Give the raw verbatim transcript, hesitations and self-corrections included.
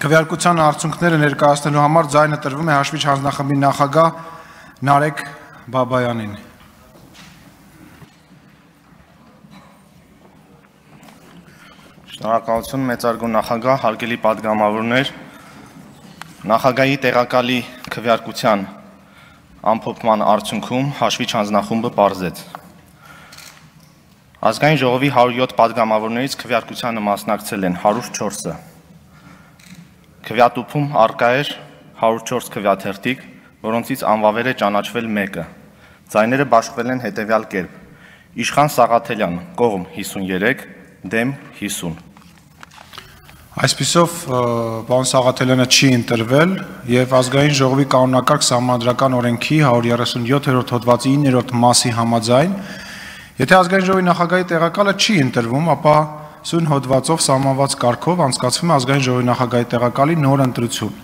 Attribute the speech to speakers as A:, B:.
A: Քվեարկության արդյունքները ներկայացնելու համար ձայնը տրվում է հաշվիչ հանձնախմբի նախագահ Նարեկ Բաբայանին։
B: Շնորհակալություն մեծարգո նախագահ, հարգելի պատգամավորներ, նախագահի տեղակալի քվեարկության ամփոփման արդյունքում հաշվիչ հանձնախումբը պարզեց։ Ազգային ժողովի հարյուր յոթ պատգամավորներից քվեարկությանը մասնակցել են հարյուր չորսը։ Քվեատուփում առկա էր հարյուր չորս քվեաթերթիկ, որոնցից անվավեր է ճանաչվել մեկը։ Ձայները բաշխվել են հետևյալ կերպ. Իշխան Սաղաթելյան, կողմ հիսուններեք, դեմ հիսուն։
A: Այսպիսով, պարոն Սաղաթելյանը չի ընտրվել եւ ազգային ժողովի կանոնակարգ սահմանադրական օրենքի հարյուր երեսունյոթերորդ հոդվածի իններորդ մասի համաձայն, եթե ազգային ժողովի նախագահի տեղակալը չի ընտրվում, ապա սույն հոդվածով սահմանված կարգով անցկացվում է ազգային ժողովի նախագահի տեղակալի նոր ընտրություն։